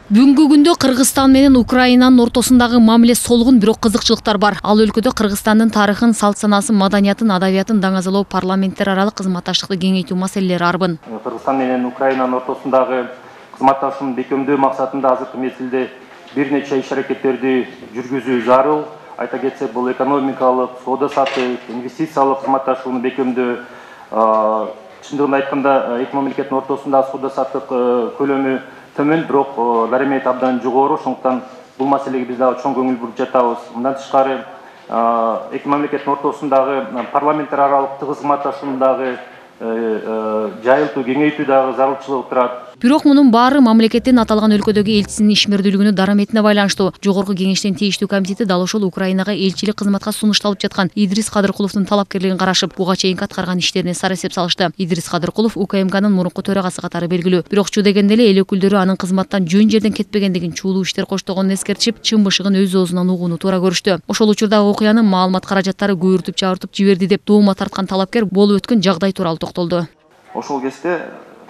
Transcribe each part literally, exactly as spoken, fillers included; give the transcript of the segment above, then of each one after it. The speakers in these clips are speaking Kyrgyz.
Бүгүнкү күндө Кыргызстан менен Украинанын ортосундагы мамиле солгун, бирок кызыкчылыктар бар. Ал өлкөдө Кыргызстандын тарыхын, салт санасын, маданиятын, адабиятын даңазалоо, парламенттер аралык кызматташтыкты кеңейтүү маселелери арбын. Кыргызстан менен Украинанын ортосундагы кызматташууну бекемдөө максатында азыркы мезгилде бир нече иш-аракеттерди жүргүзүү зарыл. Айта кетсек, бул экономикалык, соода саттык, инвестициялык кызматташууну бекемдөө. Чындыгын айтканда, эки мамлекеттин ортосундагы соода саттык көлөмү төмөн, бирок даремет абдан жогору. Ошондуктан бул маселеге биз дагы чоң көңүл буруп жатабыз. Мындан тышкары, эки мамлекеттин ортосундагы парламенттер аралык тыгыз кызматташууну дагы жайылтуу, кеңейтүү дагы зарылчылыгы турат. Бирок мунун баары мамлекеттин аталган өлкөдөгү элчисинин ишмердүүлүгүнүн дараметине байланыштуу. Жогорку кеңештин тийиштүү комитети дал ошол Украинага элчилик кызматка сунушталып жаткан Идрис Кадыркуловдун талапкерлигин карашып, буга чейинки аткарган иштерине сара эсеп салышты. Идрис Кадыркулов УКМКнын мурунку төрагасы катары белгилүү. Бирок чу дегенде эле эл өкүлдөрү анын кызматтан жөн жерден кетпегендигин, чуулуу иштер коштогонун эскертишип, чын бышыгын өз оозунан угууну туура көрүштү. Ошол учурдагы окуяны маалымат каражаттары көбүртүп чабыртып жиберди деп доома тарткан талапкер болуп өткөн жагдай тууралуу токтолду. Ошол кезде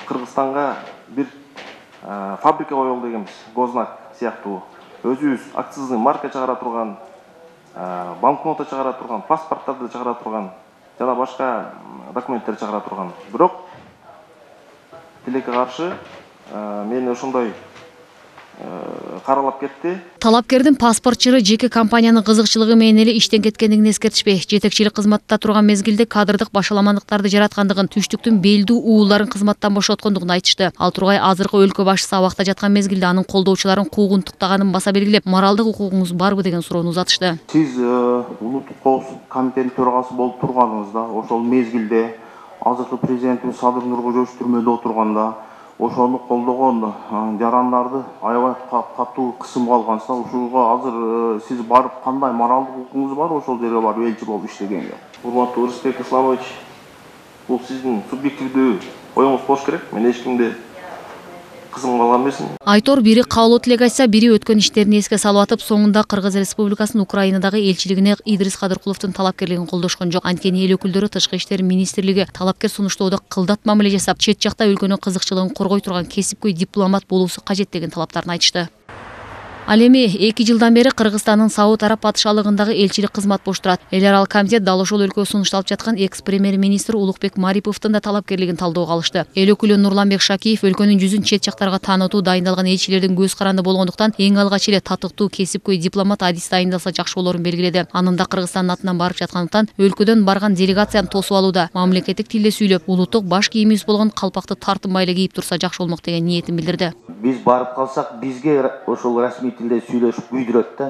Кыргызстанга бир фабрика коелду дегенбиз, Гознак сыяктуу. Өзүбүз акцизный марка чыгара турган, банкнота чыгара турган, паспорттарды чыгара турган, жана башка документтер чыгара турган. Бирок тилекке каршы мени ошондой каралап кетти. Талапкердин паспортчыры жеке компаниянын кызыкчылыгы менен эле иштен кеткендигин эскертишпей, жетекчилик кызматта турган мезгилде кадрдык башаламандыктарды жараткандыгын, түштүктүн белдүү ууларын кызматтан бошоткондугун айтышты. Ал тургай азыркы өлкө башчысы абакта жаткан мезгилде анын колдоочуларын куугунтуктаганын баса белгилеп, моралдык укугуңуз барбы деген суроону узатышты. Сиз улуттук коопсуздук комитетинин төрагасы болуп турганыңызда, ошол мезгилде азыркы президентибиз Садыр Нуркожоевич түрмөдө отурганда ошону колдогон жарандарды аябай катуу кысымга алгансыздар. Ушуга азыр сиз барып кандай моралдык укугуңуз бар ошол жерге барып элчи болуп иштегенге? Урматтуу Рысбек Исламович, бул сиздин субъективдүү оюңуз болуш керек. Мен эч кимди кызымга алган эмесмин. Айтор бири каалоо тилек айтса, бири өткөн иштерин эске салып атып, соңунда Кыргыз Республикасынын Украинадагы элчилигине Идрис Кадыркуловдун талапкерлигин колдошкон жок. Анткени эл өкүлдөрү Тышкы иштер министрлиги талапкер сунуштоодо кылдат мамиле жасап, чет жакта өлкөнүн кызыкчылыгын коргой турган кесипкөй дипломат болуусу кажет деген талаптарын айтышты. Ал эми эки жылдан бери Кыргызстандын Сауд Араб патшалыгындагы элчилик кызмат бош турат. Эл аралык комитет дал ошол өлкөгө сунушталып жаткан экс-премьер-министр Улукбек Мариповдун да талапкерлигин талоого алышты. Эл өкүлү Нурланбек Шакиев өлкөнүн жүзүн чет жактарга таанытуу дайындалган элчилердин көз каранды болгондуктан эң алгач эле татыктуу кесипкөй дипломат адис дайындалса жакшы болорун белгиледи. Анын да Кыргызстандын атынан барып жаткандыктан өлкөдөн барган делегацияны тосуп алууда, мамлекеттик тилде сүйлөп, улуттук баш кийимибиз болгон калпакты тартынбай эле кийип турса жакшы болмок деген ниетин билдирди. Биз барып калсак, бизге ошол расмий тилде сүйлөшүп күйдүрөт да.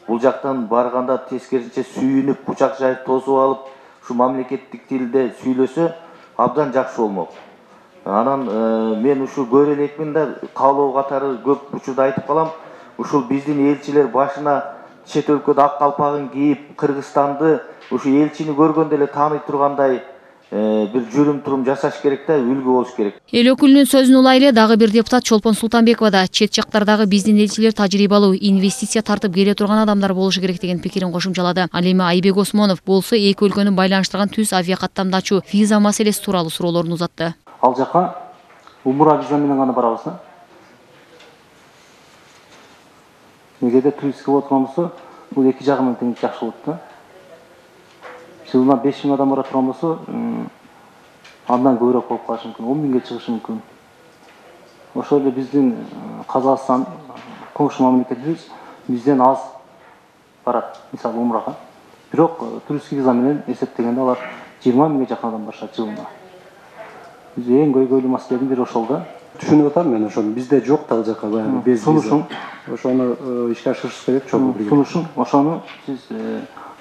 Бул жактан барганда тескерисинче сүйүнүп, бучак жайып тосуп алып, ушу мамлекеттик тилде сүйлөсө абдан жакшы болмок. Анан мен ушу көрө элекмин да, каалоо катары көп учурда айтып калам. Ушул биздин элчилер башына чет өлкөдө ак калпагын кийип, Кыргызстанды ушу элчини көргөндө эле тааный тургандай бир жүрүм турум жасаш керек да, үлгү болуш керек. Эл өкүлүнүн сөзүн улай эле дагы бир депутат Чолпон Султанбекова да чет жактардагы биздин элчилер тажрыйбалуу, инвестиция тартып келе турган адамдар болушу керек деген пикирин кошумчалады. Ал эми Айбек Осмонов болсо эки өлкөнү байланыштырган түз авиакаттамды ачуу, виза маселеси тууралуу суроолорун узатты. Ал жака умура виза менен гана барабыз да. Эгерде туристке болот болсо, бул эки жагы менен тең жакшы болот да. Жылына беш миң адам бара турган болсо, андан көбүрөөк болуп калышы мүмкүн, он миңге чыгышы мүмкүн. Ошол эле биздин Казакстан коңшу мамлекетибиз бизден аз барат, мисалы умрага. Бирок туристик виза менен эсептегенде алар жыйырма миңге жакын адам барышат жылына. Биз эң көйгөйлүү маселенин бири ошол да. Түшүнүп атам мен ошону. Бизде жок да ал жака баягы без виза. Ошону ишке ашырыш керек, чогуу бирге. Сунушун, ошону сиз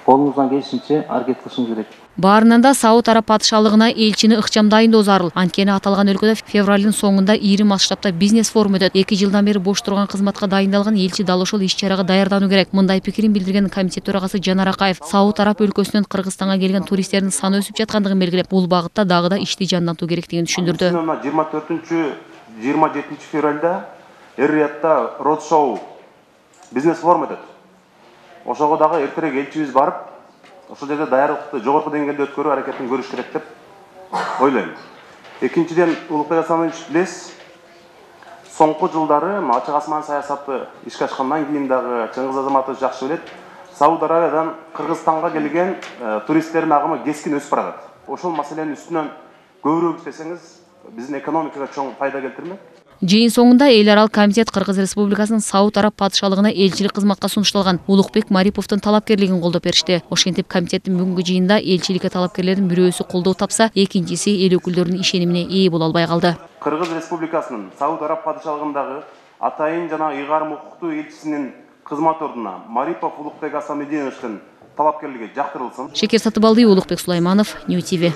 колуңуздан келишинче аракет кылышыңыз керек. Баарынан да Сауд Араб патшалыгына элчини ыкчам дайындоо зарыл. Анткени аталган өлкөдө февралдын соңунда ири масштабта бизнес форум өтөт. эки жылдан бери бош турган кызматка дайындалган элчи дал ошол иш-чарага даярдануу керек. Мындай пикирин билдирген комитет төрагасы Жанар Акаев Сауд Араб өлкөсүнөн Кыргызстанга келген туристтердин саны өсүп жаткандыгын белгилеп, бул багытта дагы да ишти жандантуу керектигин түшүндүрдү. жыйырма төртүнчү жыйырма жетинчи февралда Эр-Риядта роуд-шоу бизнес форум өтөт. Ошого дагы эртерээк элчибиз барып, ошол жерде даярдыкты жогорку деңгээлде өткөрүү аракетин көрүш керек деп ойлойм. Экинчиден, Улукбек Асанович билесиз, соңку жылдары ачык асман саясаты ишке ашкандан кийин дагы Чыңгыз Азаматович жакшы билет, Сауд Арабиядан Кыргызстанга келген туристтердин агымы кескин өсүп барат. Ошол маселенин үстүнөн көбүрөөк иштесеңиз, биздин экономикага чоң пайда келтирмек. Жыйын соңунда эл аралык комитет Кыргыз Республикасынын Сауд Араб патшалыгына элчилик кызматка сунушталган Улукбек Мариповдун талапкерлигин колдоп беришти. Ошентип комитеттин бүгүнкү жыйынында элчиликке талапкерлердин бирөөсү колдоо тапса, экинчиси эл өкүлдөрүнүн ишенимине ээ боло албай калды. Кыргыз Республикасынын Сауд Араб патшалыгындагы атайын жана ыйгарым укуктуу элчисинин кызмат ордуна Марипов Улукбек Асамединовичтин талапкерлиги жактырылсын. Шекер Сатыбалдиев, Улукбек Сулайманов, Нью ти ви.